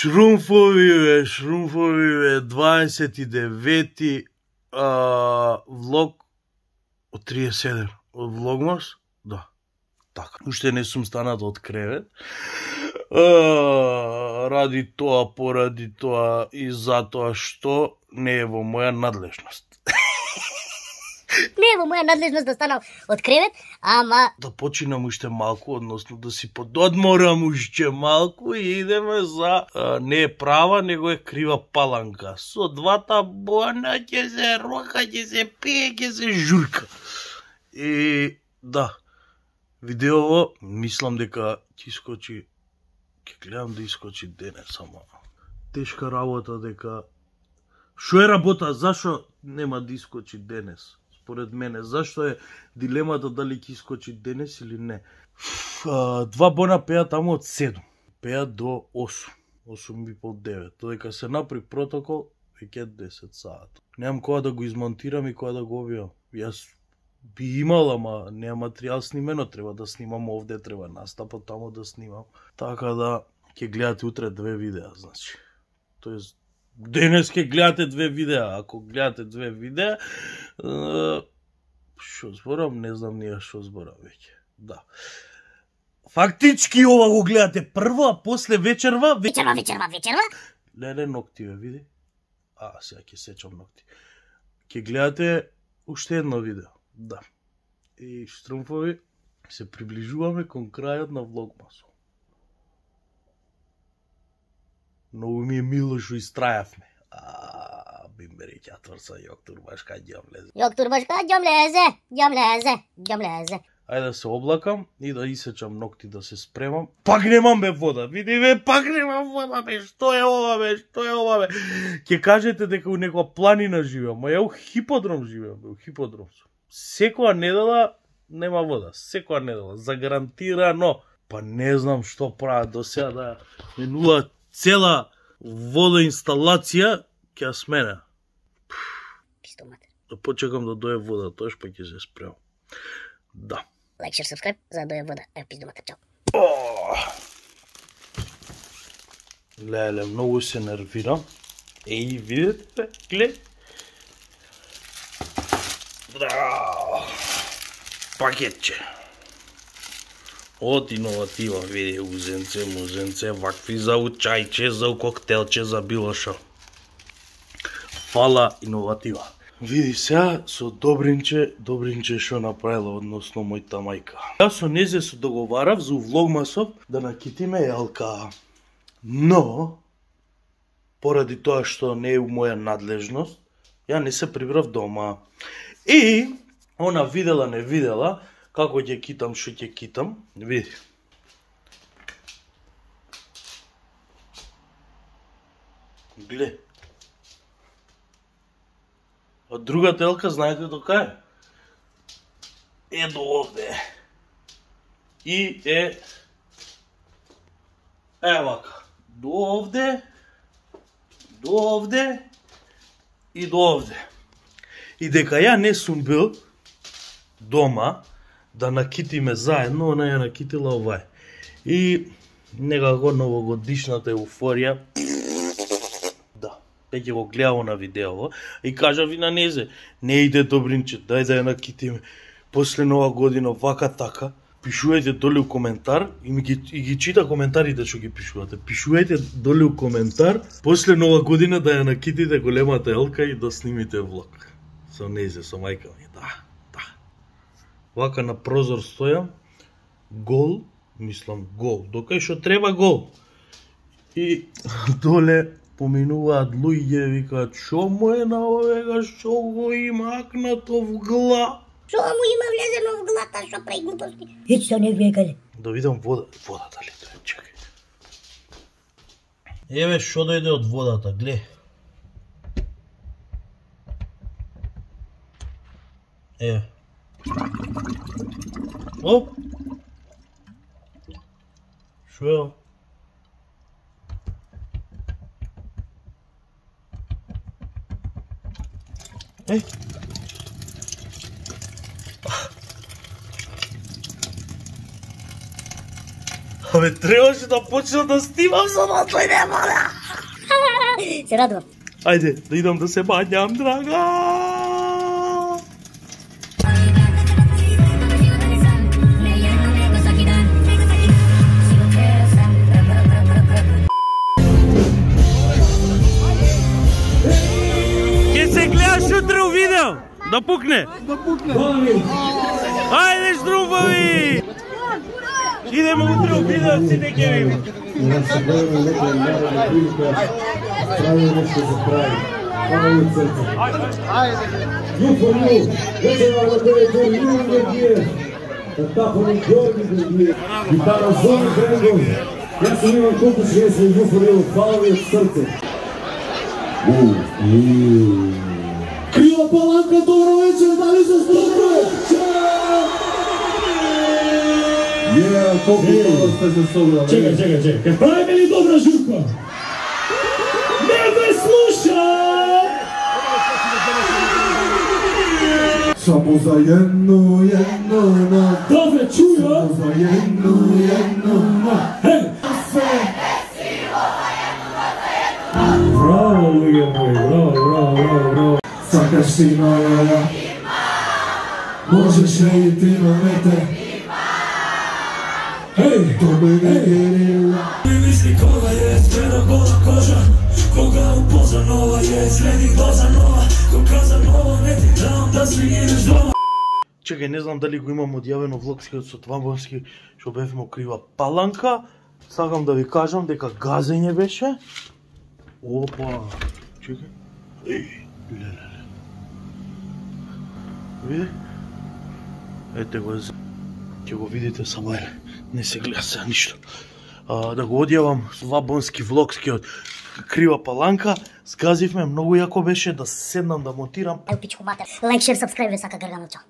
Шрумфови, 29-ти влог од 37 од Влогмас, да, така. Уште не сум станат од кревет, ради тоа, поради тоа и затоа што не е во моја надлежност. Не е во моја надлежност да станам од кревет, ама... Да починам уште малку, односно да си пододморам уште малку и идеме за... не е права, него е крива паланка. Со двата бона ќе се рока, ќе се пие, ќе се журка. И да, видеово, мислам дека ќе искочи... Ќе гледам да искочи денес, ама... Тешка работа дека... Шо е работа? Зашо нема да искочи денес? Според мене, зашто е дилемата дали ќе искочи денес или не. Два бона пеат таму од 7. Пеат до 8. 8:30-9. Додека се направи протокол, веќе 10 саат. Немам кога да го измонтирам и кога да го објавам. Јас би имал, ама нема материјал снимено, треба да снимам овде, треба настапот таму да снимам. Така да ќе гледате утре 2 видеа, значи. Тоест денес ќе гледате 2 видеа, ако гледате 2 видеа, шо зборам, не знам ние шо зборам веќе. Да. Фактички ова го гледате прво, а после вечерва... Вечерва? Леле, ногти ве види. Сега ќе сечам ногти. Ќе гледате уште едно видео. Да. И штрумфови, се приближуваме кон крајот на Влогмасот. Многу ми е мило што истрајавме. Бимбери ќатврса, јоктурбашка, ѓам лезе. Јоктурбашка, ѓам лезе. Ајде да се облакам и да исечам ногти, да се спремам. Пак немам бе вода, види бе, пак немам вода бе, што е ова бе. Ќе кажете дека у некоја планина живеам, ма ја у хиподром живеам, у хиподром сум. Секоја недела нема вода, секоја недела, загарантирано. Па не знам што прават до сега да менува цела водоинсталација ќе ја смена. Да почекам да дое вода, тоаш па ќе се спремам. Да. Лайк, шер, сабскрайб, за да дое вода. Пиздумата, чао. Леле, многу се нервирам. Еј, видите, глед. Пакетче. Од иноватива, види, узенце, вакви за чајче, за коктелче, за било шо. Фала иноватива. Види сега со Добринче шо направила, односно мојта мајка. Јас со незе се договарав за Влогмасов да накитиме Елка. Но, поради тоа што не е у моја надлежност, ја не се прибрав дома. И, она видела, не видела, како ќе китам, што ќе китам, види. Гле. А другата Елка, знаете до кај? Е до овде. И е... вака. До овде и до овде. И дека ја не сум бил дома да накитиме заедно, она ја накитила овај. И некако новогодишната еуфорија, да, веќе го гледам на видео и кажа ви на незе, не иде Добринче, дај да ја накитиме. После нова година вака така, пишувајте доле у коментар и ги чита коментарите што ги пишувате. Пишувајте доле у коментар, после нова година да ја накитите големата Елка и да снимите влог. Со незе, со мајка ми, да. Вака на прозор стојам, гол, мислам гол, докај што треба гол. И доле поминуваат луѓе, викаат, шо му е на овега, шо го има акнато в гла. Шо му има влезено в глата, шо прави глупости? Ечто не векале. Да видам водата ли тоа, чекај. Еве шо дојде од водата, гле. Еве. Оп! Шо е? Еј! Абе, требаше да почнам да снимам за да дојде вода. Се радувам. Ајде, да идам да се бањам, драга. Ке се гледаш утре у видео. Да пукне. Да пукне. Ајде, штрумфови. Идемо утре у видео, сите ќе видим. Да се гледаме нека народна прилика, прави нешто за прави. Хвала ви од срце. You for you, вечера на телефон Јури Гергиев, татафони Георги Гергиев, гитара Зони Гренгов, јас сум Иван Култуш, јас сум You for you, хвала ви од срце. Крила Паланка, добро вечер, дали се слушате? Колку добро сте се собрали. Чекај. Ке правиме ли добра журка? Не ме слуша! Само за едно нот. Да ве чуја? Само за едно нот. Хеј! Браво, луѓе мои, браво. Сакаш ти најава? Можеш ли ти намете? Hej, to by nie wierzyła. Myśli koga jest, tyle gola koża. Koga upozanowa jest, ledi dozanova. Koga zanova, ne ti dam da si ideš doma. Чекај, не знам дали го имам одјавено влогскиот со Твамбонски, што бевме у Крива Паланка. Сакам да ви кажам дека газење беше. Опа, чекај. Леле. Види? Ете го, ќе го видите само не се гледа се ништо. Да го одјавам Твамбонски влогскиот Крива Паланка. Сказивме, многу јако беше да седнам да монтирам. Еу пичку матер. Лайк, шер, сабскрајбер, сака Гаргано, чао.